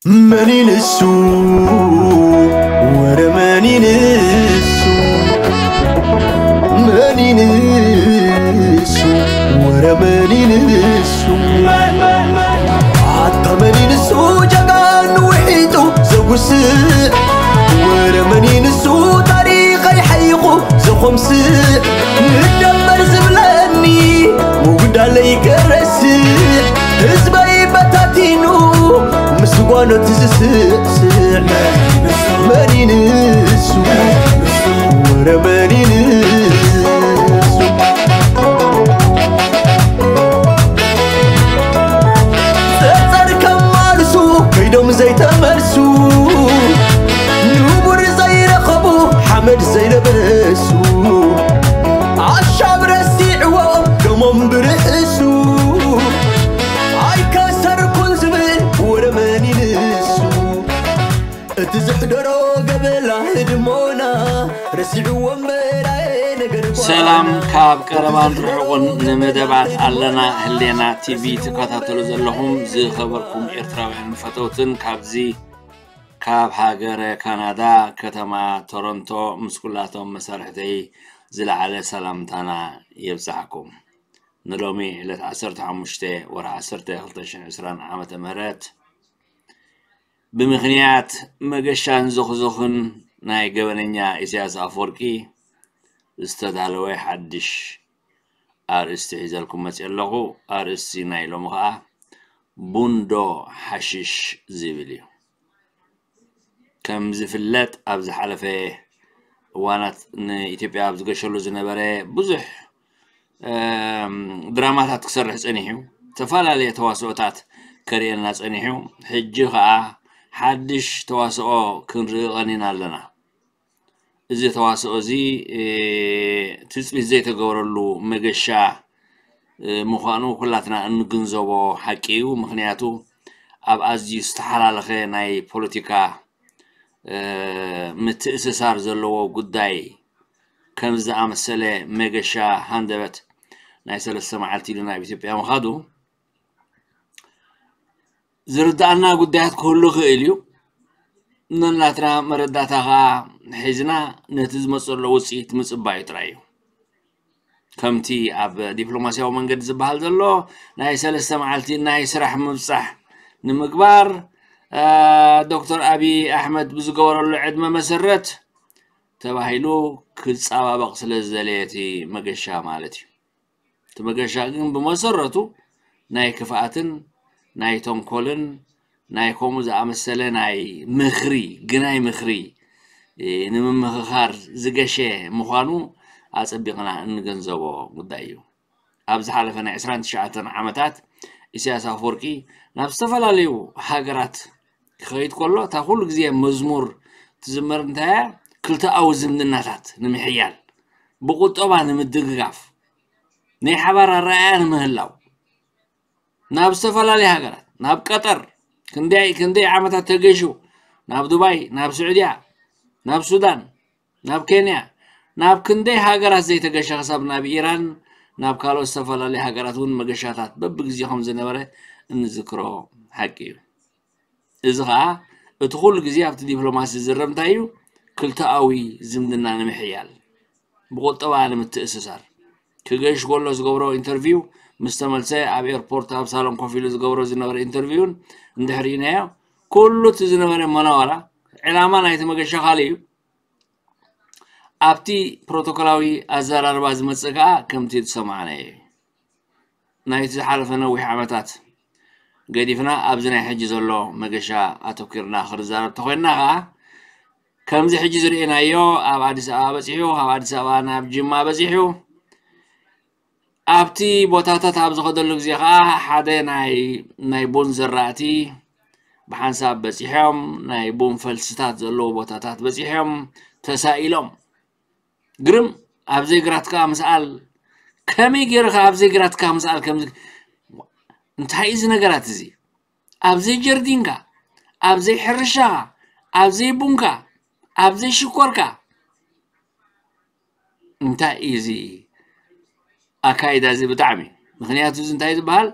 መኒንሱ ወረ መኒንሱ መኒንሱ ወረ መኒንሱ ኣታ መኒንሱ ጀጋኑ ውሒጡ ዘጉስእ ወረ መኒንሱ ታሪኸይ ሓይቑ ዘኾምስእ ንደበር ዝብለኒ ምጉዳለይ ገረስእ ህዝበይ በታቲኑ ምስጓኖት ዝስእስዕ መኒንሱ ወረ መኒንሱ ጸጸር ከማልሱ ከይዶም ዘይተመልሱ ንቡር ዘይረኸቡ ሓመድ ዘይለበሱ ኣሻብ ረሲዕዎም ደሞም ብርእሱ ኣይከሰርኩን ዝብል ወረ መኒንሱ እቲ ዝሕደሮ ገበላ ህድሞና ረሲዕዎም በላየ ነገር ሰላም ካብ ቀረባን ርሑቕን ንመደባት ኣለና ህሌና ቲቪ ትከታተሉ ዘለኹም ዝኸበርኩም ኤርትራውያን ፈተውትን ካብዚ ካብ ሃገረ ካናዳ ከተማ ቶሮንቶ ምስ ኩላቶም መሳርሕተይ ዝለዓለ ሰላምታና የብጽሓኩም። ንሎሚ ዕለት ዓሰርተ ሓሙሽተ ወርሒ ዓሰርተ ክልተ ሽሕን ዕስራን ዓመተ ምህረት ብምኽንያት መገሻን ዞኽዞኽን ናይ ገበነኛ ኢሳያስ ኣፈወርቂ ዝተዳለወ ሓድሽ ኣርእስቲ ሒዘልኩም መፅእ ኣለኹ። ኣርእስቲ ናይ ሎሚ ከዓ ቡንዶ ሓሽሽ ዝብል እዩ። ከም ዝፍለጥ ኣብ ዝሓለፈ እዋናት ንኢትዮጵያ ኣብ ዝገሸሉ ዝነበረ ብዙሕ ድራማታት ክሰርሕ ፀኒሑ እዩ። ዝተፈላለየ ተዋስኦታት ከርእየና ፀኒሑ እዩ። ሕጂ ከዓ ሓድሽ ተዋስኦ ክንርኢ ቀኒና ኣለና። እዚ ተዋስኦ እዚ ትፅቢት ዘይተገበረሉ መገሻ ምዃኑ ኩላትና እንግንዘቦ ሓቂ እዩ። ምኽንያቱ ኣብ ኣዝዩ ዝተሓላለኸ ናይ ፖለቲካ ምትእስሳር ዘለዎ ጉዳይ ከም ዝኣመሰለ መገሻ ሃንደበት ናይ ሰለስተ መዓልቲ ኢሉ ናብ ኢትዮጵያ ምኻዱ ዝርድኣና ጉዳያት ክህሉ ይኽእል እዩ። ነናትና መረዳእታ ከዓ ሒዝና ነቲ ዝመፀሎ ውፅኢት ምፅባዩ ጥራይ እዩ። ከምቲ ኣብ ዲፕሎማስያዊ መንገዲ ዝበሃል ዘሎ ናይ ሰለስተ መዓልቲ ናይ ስራሕ ምብፃሕ ንምግባር ዶክተር ኣብይ ኣሕመድ ብዝገበረሉ ዕድመ መሰረት ተባሂሉ ክፃባበቕ ስለ ዝደለየ እቲ መገሻ ማለት እዩ። እቲ መገሻ ግን ብመሰረቱ ናይ ክፍኣትን ናይ ተንኮልን ናይ ከምኡ ዝኣመሰለ ናይ ምኽሪ ግናይ ምኽሪ ንምምኽኻር ዝገሸ ምዃኑ ኣፀቢቕና እንገንዘቦ ጉዳይ እዩ። ኣብ ዝሓለፈ ናይ ዕስራን ትሽዓተን ዓመታት ኢሳያስ ኣፈወርቂ ናብ ዝተፈላለዩ ሃገራት ክኸይድ ከሎ እታ ኩሉ ግዜ መዝሙር ትዝመር እንታይ እያ? ክልተኣዊ ዝምድናታት ንምሕያል፣ ብቁጠባ ንምድግጋፍ፣ ናይ ሓባር ኣረኣእያ ንምህላው ናብ ዝተፈላለዩ ሃገራት ናብ ቀጠር ክንደይ ክንደይ ዓመታት ተገሹ ናብ ዱባይ ናብ ስዑድያ ናብ ሱዳን ናብ ኬንያ ናብ ክንደይ ሃገራት ዘይተገሸ ክሳብ ናብ ኢራን ናብ ካልኦት ዝተፈላለዩ ሃገራት እውን መገሻታት በብግዜ ከም ዝነበረ እንዝክሮ ሓቂ እዩ። እዚ ከዓ እቲ ኩሉ ግዜ ኣብቲ ዲፕሎማሲ ዝረብ እንታይ እዩ? ክልተኣዊ ዝምድና ንምሕያል ብቁጠባ ንምትእስሳር ክገሽ ከሎ ዝገብሮ ኢንተርቪው ምስ ተመልሰ ኣብ ኤርፖርት ኣብ ሳሎን ኮፍ ኢሉ ዝገብሮ ዝነበረ ኢንተርቪውን እንድሕር ርኢናዮ ኩሉ እቲ ዝነበረ መናዋራ ዕላማ ናይቲ መገሻ ካልእ እዩ። ኣብቲ ፕሮቶኮላዊ ኣዘራርባ ዝመፅእ ከዓ ከምቲ ዝሰማዕናዮ እዩ። ናይቲ ዝሓለፈ ነዊሕ ዓመታት ገዲፍና ኣብዚ ናይ ሕጂ ዘሎ መገሻ ኣተኪርና ክንዛረብ ተኮይንና ከዓ ከምዚ ሕጂ ዝርእናዮ ኣብ ኣዲስ ኣበባ በፂሑ ካብ ኣዲስ ኣበባ ናብ ጅማ በፂሑ ኣብቲ ቦታታት ኣብ ዝኸደሉ ግዜ ከዓ ሓደ ናይ ናይ ቡን ዘራእቲ ብሓንሳብ በፂሖም ናይ ቡን ፈልስታት ዘለዎ ቦታታት በፂሖም ተሳኢሎም ግርም ኣብ ዘይግራትካ ምስኣል ከመይ ገይርካ ኣብ ዘይግራትካ ምስኣል ከምዚ እንታይ እዚ ነገራት እዚ ኣብ ዘይጀርዲንካ ኣብ ዘይሕርሻኻ ኣብ ዘይቡንካ ኣብ ዘይሽኮርካ እንታይ እዩ እዚ ኣካይዳ እዚ ብጣዕሚ ምክንያቱ እዚ እንታይ ዝበሃል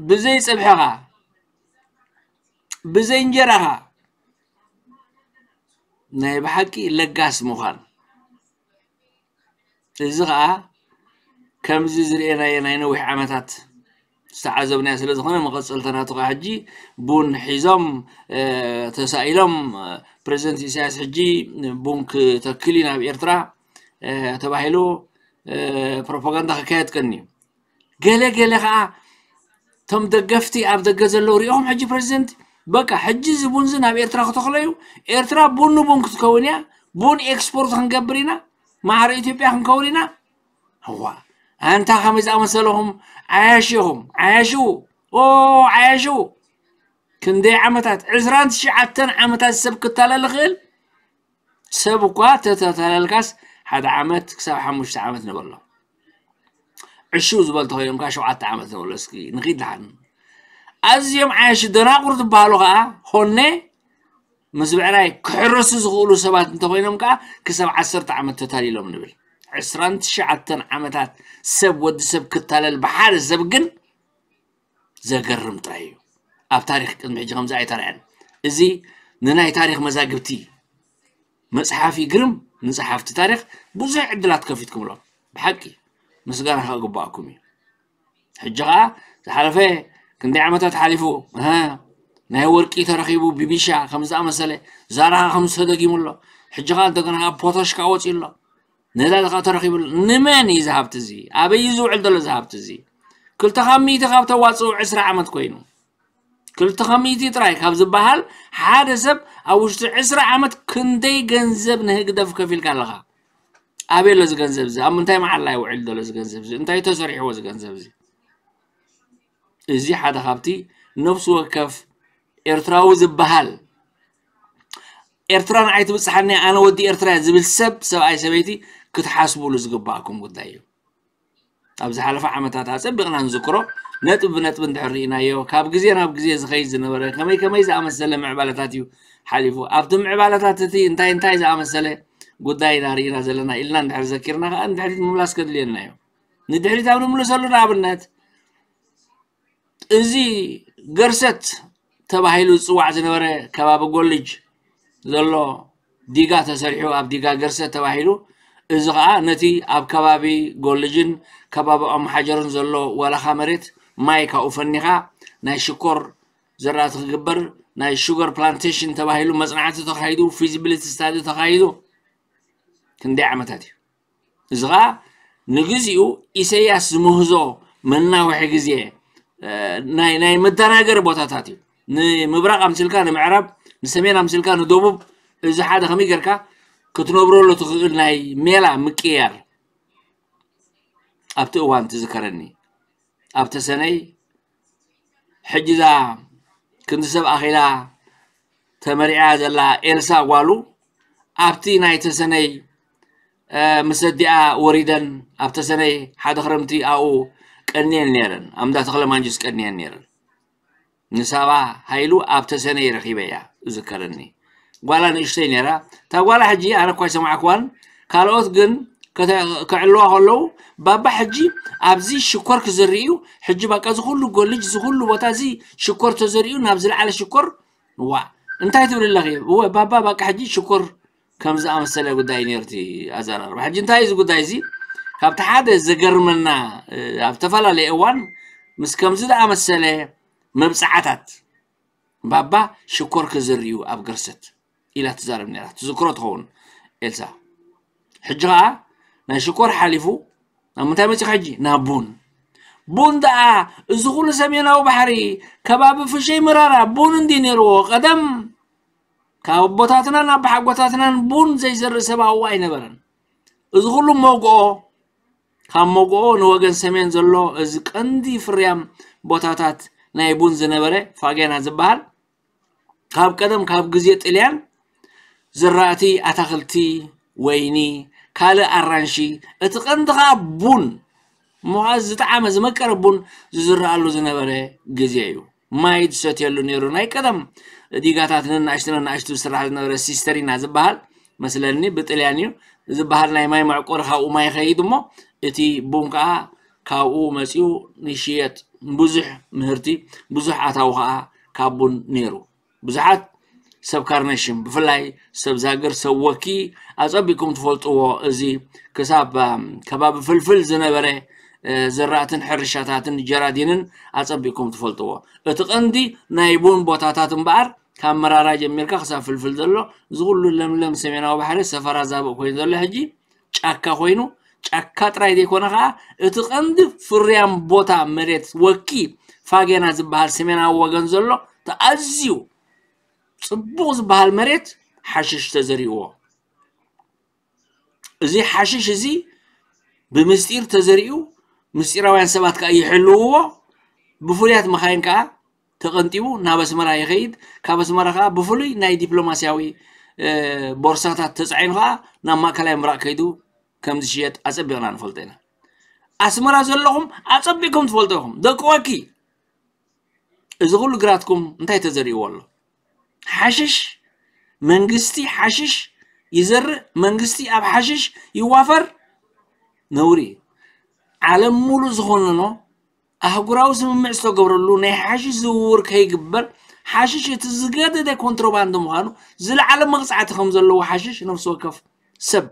ብዘይ ፀብሕኻ ብዘይ እንጀራ ኸኣ ናይ ብሓቂ ለጋስ ምዃን። እዚ ኸኣ ከምዚ ዝርኤናዮ ናይ ነዊሕ ዓመታት ዝተዓዘብናዮ ስለ ዝኾነ፣ መቐጸልታ ናቱ ኸኣ ሕጂ ቡን ሒዞም፣ እ፣ ተሳኢሎም፣ እ፣ ፕረዚደንት ኢሳያስ ሕጂ ቡን ክተክል እዩ ናብ ኤርትራ፣ እ፣ ተባሂሉ፣ እ፣ ፕሮፓጋንዳ ክካየድ ቀንዩ። ገለ ገለ ኸኣ እቶም ደገፍቲ ኣብ ደገ ዘለዉ ሪኦም ሕጂ ፕረዚደንት በቃ ሕጂ እዚ ቡን እዚ ናብ ኤርትራ ክተኽሎ እዩ፣ ኤርትራ ቡን ንቡን ክትከውን እያ፣ ቡን ኤክስፖርት ክንገብር ኢና፣ ማዕረ ኢትዮጵያ ክንከውን ኢና። እዋ ኣንታ ከመይ ዝኣመሰለኹም ዓያሹ ኢኹም፣ ዓያሹ፣ ኦ ዓያሹ። ክንደይ ዓመታት፣ ዕስራን ትሽዓተን ዓመታት ሰብ ክታለል ይኽእል። ሰብ እኳ ተተታለልካስ ሓደ ዓመት ክሳብ ሓሙሽተ ዓመት ንበሎ። ዕሹ ዝበል ተኾይኖም ከኣ ሸውዓተ ዓመት ንበሎ። እስኪ ንኺድ ደሓን። ኣዝዮም ዓያሹ ደናቁር ዝበሃሉ ከኣ ኾነ ምስ ብዕራይ ክሕረሱ ዝኽእሉ ሰባት እንተኾይኖም ከኣ ክሳብ ዓሰርተ ዓመት ተታሊሎም ንብል። ዕስራን ትሽዓተን ዓመታት ሰብ፣ ወዲ ሰብ ክታለል ብሓደ ሰብ ግን ዘገርም ጥራይ እዩ። ኣብ ታሪኽ ቅድሚ ሕጂ ከምዚ ኣይተራእየን። እዚ ንናይ ታሪኽ መዛግብቲ መጽሓፍ ይግርም፣ ንጸሓፍቲ ታሪኽ ብዙሕ ዕድላት ከፊትኩምሎም። ብሓቂ ምስጋና ክግባኣኩም እዩ። ሕጂ ኸኣ ዝሓለፈ ክንደይ ዓመታት ሓሊፉ፣ እህ፣ ናይ ወርቂ ተረኺቡ ብቢሻ ከም ዝኣመሰለ፣ ዛራ ኸኣ ከም ተደጊሙ ኣሎ። ሕጂ ኸኣ እንደገና ኸኣ ፖታሽ ከኣ ወጺኡ ኣሎ። ነዳዲ ኸኣ ተረኺቡ ኣሎ። ንመን እዩ እዚ ሃብቲ እዚ? ኣበይ እዩ ዝውዕል ዘሎ እዚ ሃብቲ እዚ? ክልተ ካብ ሚእቲ ካብ ተዋጽኡ ዕስራ ዓመት ኮይኑ። ክልተ ካብ ሚእቲ ጥራይ ካብ ዝበሃል ሓደ ሰብ ኣብ ውሽጢ ዕስራ ዓመት ክንደይ ገንዘብ ንህግደፍ ከፊልካ ኣለኻ? ኣበይ ኣሎ እዚ ገንዘብ እዚ? ኣብ ምንታይ መዓላ ይውዕል ዘሎ እዚ ገንዘብ እዚ? እንታይ ተሰሪሕዎ እዚ ገንዘብ እዚ? እዚ ሓደ ካብቲ ነፍሲ ወከፍ ኤርትራዊ ዝበሃል፣ ኤርትራ ንዓይ ትብጽሓኒ፣ ኣነ ወዲ ኤርትራ እየ ዝብል ሰብ፣ ሰብኣይ ሰበይቲ፣ ክትሓስቡሉ ዝግባኣኩም ጉዳይ እዩ። ኣብ ዝሓለፈ ዓመታት ኣጸቢቕና ንዝክሮ፣ ነጥቢ ብነጥቢ እንድሕር ርኢናዮ፣ ካብ ግዜ ናብ ግዜ ዝኸይድ ዝነበረ ከመይ ከመይ ዝኣመሰለ ምዕባለታት እዩ ሓሊፉ። ኣብቲ ምዕባለታት እቲ እንታይ እንታይ ዝኣመሰለ ጉዳይ ኢና ርኢና ዘለና ኢልና እንድሕር ዘኪርና ከኣ ንድሕሪት ምምላስ ከድልየና እዩ። ንድሕሪት ኣብ ንምልሰሉ ንኣብነት፣ እዚ ገርሰት ተባሂሉ ዝጽዋዕ ዝነበረ ከባቢ ጎልጅ ዘሎ ዲጋ ተሰሪሑ ኣብ ዲጋ ገርሰት ተባሂሉ፣ እዚ ኸኣ ነቲ ኣብ ከባቢ ጎልጅን ከባቢ ኦምሓጀርን ዘሎ ወላኻ መሬት ማይ ካብኡ ፈኒኻ ናይ ሽኮር ዘራእቲ ክግበር ናይ ሹገር ፕላንቴሽን ተባሂሉ መጽናዕቲ ተኻሂዱ፣ ፊዚቢሊቲ ስታዲ ተኻሂዱ። ክንደይ ዓመታት እዩ። እዚ ኸኣ ንግዚኡ ኢሰያስ ዝምህዞ መናውሒ ግዜ፣ እ፣ ናይ፣ ናይ መደናገሪ ቦታታት እዩ። ንምብራቕ ኣምሲልካ ንምዕራብ፣ ንሰሜን ኣምሲልካ ንደቡብ፣ እዚ ሓደ ከመይ ጌርካ ክትነብረሉ ትኽእል ናይ ሜላ ምቅያር። ኣብቲ እዋን ትዝከረኒ፣ ኣብ ተሰነይ ሕጂ እዛ ክንዲ ሰብ ኣኺላ ተመሪዓ ዘላ ኤልሳ ጓሉ ኣብቲ ናይ ተሰነይ፣ እ፣ ምስ ኣዲኣ ወሪደን ኣብ ተሰነይ ሓደ ክረምቲ ኣብኡ ቀንየን ነይረን፣ ኣብ እንዳ ተኽለ ማንጁስ ቀንየን ነይረን። ንሳባ ሃይሉ ኣብ ተሰነይ ረኺበያ እዝከረኒ። ጓላ ንእሽተይ ነይራ። እታ ጓላ ሕጂ ኣነ እኳ ኣይሰማዕክዋን፣ ካልኦት ግን ከተ-፣ ክዕልዋ ከለዉ፣ ባባ ሕጂ ኣብዚ ሽኮር ክዘርኢ እዩ፣ ሕጂ በቃ እዚ ኩሉ ጎልጅ፣ እዚ ኩሉ ቦታ እዚ ሽኮር ተዘሪኡ፣ ናብ ዝለዓለ ሽኮር፣ ዋ፣ እንታይ ትብል ኣለኺ? እወ፣ ባባ በቃ ሕጂ ሽኮር ከም ዝኣመሰለ ጉዳይ ነይሩ እቲ ኣዘራርባ። ሕጂ እንታይ እዩ እዚ ጉዳይ እዚ? ካብቲ ሓደ ዘገርመና፣ እ፣ ኣብ ዝተፈላለየ እዋን ምስ ከምዚ ዝኣመሰለ መብጽዓታት ባባ ሽኮር ክዝርዩ ኣብ ገርሰት ኢላ ትዛረብ ነይራ። ትዝክሮ ትኸውን ኤልሳ። ሕጂ ኸኣ ናይ ሽኮር ሓሊፉ ናብ ምንታይ መጺኻ ሕጂ? ናብ ቡን። ቡን ደኣ እዚ ኩሉ ሰሜናዊ ባሕሪ ከባቢ ፍሸይ መራራ ቡን እንዲ ነይርዎ ቀደም ካብ ኣቦታትናን ኣባሓጎታትናን ቡን ዘይዘርእ ሰብ ኣብኡ ኣይነበረን። እዚ ኩሉ መጎኦ፣ ካብ መጎኦ ንወገን ሰሜን ዘሎ እዚ ቀንዲ ፍርያም ቦታታት ናይ ቡን ዝነበረ ፋጌና ዝበሃል ካብ ቀደም ካብ ግዜ ጥልያን ዝራእቲ ኣታኽልቲ፣ ወይኒ፣ ካልእ ኣራንሺ፣ እቲ ቀንዲ ኸኣ ቡን እሞ ኸኣ ዝጠዓመ ዝመቀረ ቡን ዝዝረኣሉ ዝነበረ ግዜ እዩ። ማይ ዝሰትየሉ ነይሩ። ናይ ቀደም ዲጋታት ነናእሽቱ ነናእሽቱ ዝስራሕ ዝነበረ ሲስተሪና ዝበሃል መስለኒ ብጥልያን እዩ ዝበሃል ናይ ማይ መዕቆሪ ካብኡ ማይ ይኸይድ እሞ እቲ ቡን ከዓ ካብኡ መፂኡ ንሽየጥ ብዙሕ ምህርቲ ብዙሕ ኣታዊ ከዓ ካብ ቡን ነይሩ። ብዙሓት ሰብ ካርነሽም፣ ብፍላይ ሰብ ዛግር፣ ሰብ ወኪ ኣጸቢቅኩም ትፈልጥዎ። እዚ ክሳብ ከባቢ ፍልፍል ዝነበረ ዘራእትን ሕርሻታትን ጀራዲንን ኣጸቢቅኩም ትፈልጥዎ። እቲ ቀንዲ ናይ ቡን ቦታታት እምበኣር ካብ መራራ ጀሚርካ ክሳብ ፍልፍል ዘሎ፣ እዚ ኩሉ ለምለም ሰሜናዊ ባሕሪ ሰፈራ ዛብእ ኮይኑ ዘሎ ሕጂ ጫካ ኮይኑ፣ ጫካ ጥራይ ዘይኮነ ከዓ እቲ ቀንዲ ፍርያም ቦታ መሬት ወኪ ፋጌና ዝበሃል ሰሜናዊ ወገን ዘሎ፣ እቲ ኣዝዩ ጽቡቕ ዝበሃል መሬት ሓሽሽ ተዘሪእዎ። እዚ ሓሽሽ እዚ ብምስጢር ተዘሪኡ፣ ምስጢራውያን ሰባት ከዓ ይሕልውዎ። ብፍሉያት መኻይን ከዓ ተቐንጢቡ ናብ ኣስመራ ይኸይድ። ካብ ኣስመራ ከዓ ብፍሉይ ናይ ዲፕሎማስያዊ ቦርሳታት ተፃዒኑ ከዓ ናብ ማእከላይ ምብራቕ ከይዱ ከም ዝሽየጥ ኣፀቢቕና ንፈልጦ ኢና። ኣስመራ ዘለኹም ኣፀቢቕኩም ትፈልጡ ኢኹም። ደቂ ወኪ፣ እዚ ኩሉ ግራትኩም እንታይ ተዘሪእዎ ኣሎ? ሓሽሽ፣ መንግስቲ ሓሽሽ ይዘርእ፣ መንግስቲ ኣብ ሓሽሽ ይዋፈር። ነውሪ እዩ። ዓለም ሙሉእ ዝኾነኖ ኣህጉራዊ ስምምዕ ዝተገብረሉ ናይ ሓሽሽ ዝውውር ከይግበር፣ ሓሽሽ እቲ ዝገደደ ኮንትሮባንድ ምዃኑ፣ ዝለዓለ መቕፃዕቲ ከም ዘለዎ ሓሽሽ ነፍሲ ወከፍ ሰብ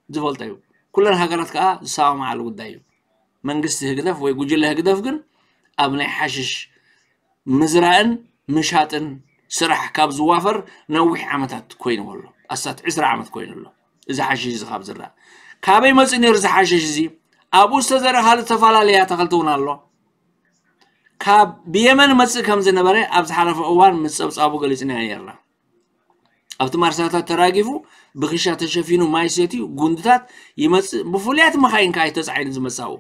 ዝፈልጦ እዩ። ኩለን ሃገራት ከዓ ዝሰማማዓሉ ጉዳይ እዩ። መንግስቲ ህግደፍ ወይ ጉጅለ ህግደፍ ግን ኣብ ናይ ሓሽሽ ምዝራእን ምሻጥን ስራሕ ካብ ዝዋፈር ነዊሕ ዓመታት ኮይኑ ኣሎ። ኣስታት ዕስራ ዓመት ኮይኑ ኣሎ። እዚ ሓሽሽ እዚ ካብ ዝረኣ ካበይ መፅእ ነይሩ? እዚ ሓሽሽ እዚ ኣብኡ ዝተዘርእ ካልእ ዝተፈላለየ ኣታኽልቲ እውን ኣሎ። ካብ ብየመን መፅእ ከም ዝነበረ ኣብ ዝሓለፈ እዋን ምስ ፀብፃቡ ገሊፅና ነርና። ኣብቲ ማርሳታት ተራጊፉ ብክሻ ተሸፊኑ ማይ ሰትዩ ጉንድታት ይመፅእ። ብፍሉያት መኻይን ከዓ እዩ ተፃዒኑ ዝመፅእ ኣብኡ።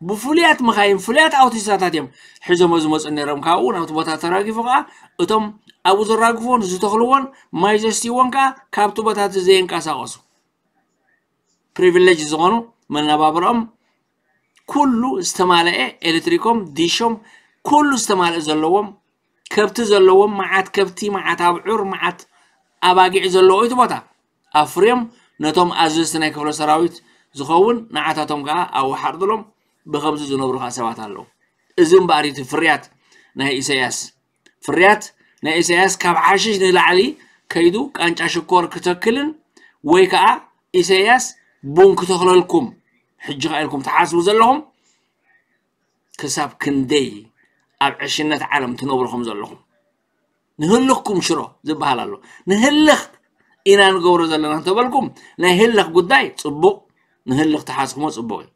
ብፍሉያት መኻይን፣ ፍሉያት ኣውቲስታታት እዮም ሒዞሞ ዝመፁ ነይሮም። ካብኡ ናብቲ ቦታ ተራጊፉ ከዓ እቶም ኣብኡ ዘራግፍዎን ዝተኽልዎን ማይ ዘስትይዎን ከዓ ካብቲ ቦታ እቲ ዘየንቀሳቐሱ ፕሪቪሌጅ ዝኾኑ መነባብሮኦም ኩሉ ዝተማልአ፣ ኤሌክትሪኮም፣ ዲሾም፣ ኩሉ ዝተማልአ ዘለዎም፣ ከብቲ ዘለዎም፣ መዓት ከብቲ፣ መዓት ኣብዑር፣ መዓት ኣባጊዕ ዘለዎ እቲ ቦታ ኣፍርዮም ነቶም ኣዘዝቲ ናይ ክፍለ ሰራዊት ዝኸውን ንዓታቶም ከዓ ኣብኡ ሓርድሎም ብኸምዚ ዝነብሩ ከዓ ሰባት ኣለዉ። እዚ እምበኣር እቲ ፍርያት ናይ ኢሳያስ። ፍርያት ናይ ኢሳያስ ካብ ሓሽሽ ንላዕሊ ከይዱ ቃንጫ ሽኮር ክተክልን ወይ ከዓ ኢሳያስ ቡን ክተኽለልኩም ሕጂ ከኣ ኢልኩም ትሓስቡ ዘለኹም ክሳብ ክንደይ ኣብ ዕሽነት ዓለም ትነብሩ ከም ዘለኹም። ንህልኽኩም ሽሮ ዝበሃል ኣሎ። ንህልኽ ኢና ንገብሮ ዘለና እንተበልኩም ናይ ህልኽ ጉዳይ ጽቡቕ፣ ንህልኽ ትሓስኹሞ ጽቡቕ እዩ።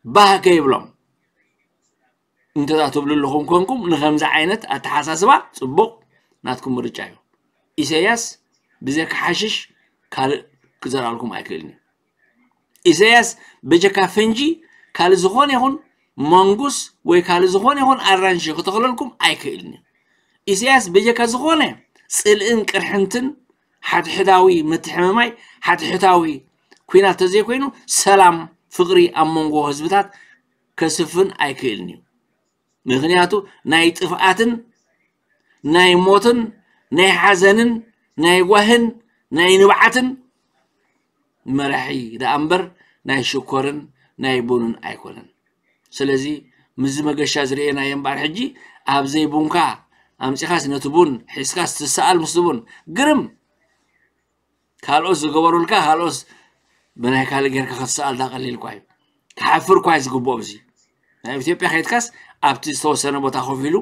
ባህ ከይብሎም እንተ ትብሉ ኣለኹም ኮንኩም ንኸምዚ ዓይነት ኣተሓሳስባ ጽቡቕ ናትኩም ምርጫ እዩ። ኢሳያስ ብዘይካ ሓሽሽ ካልእ ክዘርኣልኩም ኣይክእልን እዩ። ኢሳያስ በጀካ ፈንጂ ካልእ ዝኾነ ይኹን መንጉስ ወይ ካልእ ዝኾነ ይኹን ኣራንሺ ክተኽለልኩም ኣይክእልን እዩ። ኢሳያስ በጀካ ዝኾነ ጽልእን ቅርሕንትን ሓድሕዳዊ ምትሕምማይ ሓድሕዳዊ ኲናት ተዘይኮይኑ ሰላም ፍቕሪ ኣብ መንጎ ህዝብታት ከስፍን ኣይክእልን እዩ። ምኽንያቱ ናይ ጥፍኣትን ናይ ሞትን ናይ ሓዘንን ናይ ጓህን ናይ ንብዓትን መራሒ ደኣ እምበር ናይ ሽኮርን ናይ ቡንን ኣይኮነን። ስለዚ ምስዚ መገሻ ዝርእየናዮ እምበኣር ሕጂ ኣብ ዘይቡንካ ኣምጺኻስ ነቲ ቡን ሒዝካስ ትሰኣል ምስቲ ቡን ግርም ካልኦት ዝገበሩልካ ካልኦት ብናይ ካልእ ጌርካ ክትሰኣል ዳ ቀሊል እኳ እዩ። ክሓፍር እኳ እዩ ዝግብኦ። ብዚ ናብ ኢትዮጵያ ከይድካስ ኣብቲ ዝተወሰነ ቦታ ኮፍ ኢሉ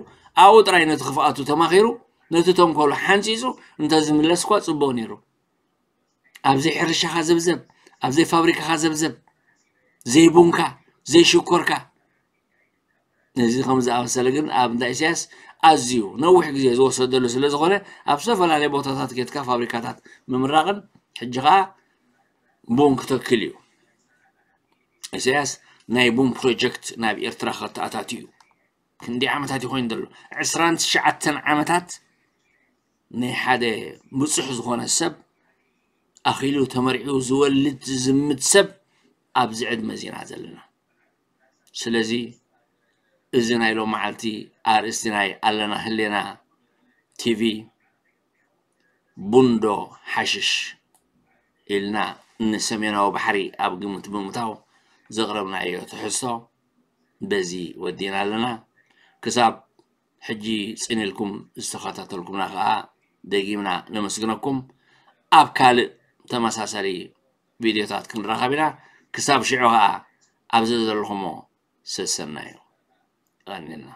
ኣብኡ ጥራይ ነቲ ክፍኣቱ ተማኺሩ ነቲ ተንኮሉ ሓንፂፁ እንተዝምለስ እኳ ፅቡቕ ነይሩ። ኣብ ዘይሕርሻኻ ዘብዘብ፣ ኣብ ዘይፋብሪካኻ ዘብዘብ፣ ዘይቡንካ ዘይሽኮርካ ነዚ ከም ዝኣመሰለ ግን ኣብ እንዳ ኢሳያስ ኣዝዩ ነዊሕ ግዜ ዝወሰደሉ ስለ ዝኾነ ኣብ ዝተፈላለየ ቦታታት ኬድካ ፋብሪካታት ምምራቕን ሕጂ ኸኣ ቡን ክተክል እዩ። ኢሳያስ ናይ ቡን ፕሮጀክት ናብ ኤርትራ ከተኣታትዩ እዩ። ክንደይ ዓመታት እዩ ኮይኑ ዘሎ? ዕስራን ትሽዓተን ዓመታት ናይ ሓደ ብጹሕ ዝኾነ ሰብ ኣኺሉ ተመርዒው ዝወልድ ዝዝምት ሰብ ኣብዚ ዕድመ ዚና ዘለና። ስለዚ እዚ ናይ ሎም መዓልቲ ኣርእስቲ ናይ ኣለና ህሌና ቲቪ ቡንዶ ሓሽሽ ኢልና ንሰሜናዊ ባሕሪ ኣብ ግምት ብምእታው ዘቕረብናዮ ትሕዝቶ በዚ ወዲና ኣለና። ክሳብ ሕጂ ጽን ኢልኩም ዝተኸታተልኩምና ከኣ ደጊምና ነመስግነኩም። ኣብ ካልእ ተመሳሳሊ ቪድዮታት ክንራኸብ ኢና። ክሳብ ሽዑ ኸኣ ኣብዚ ዘለኹሞ ሰሰናዩ። ቀኒልና።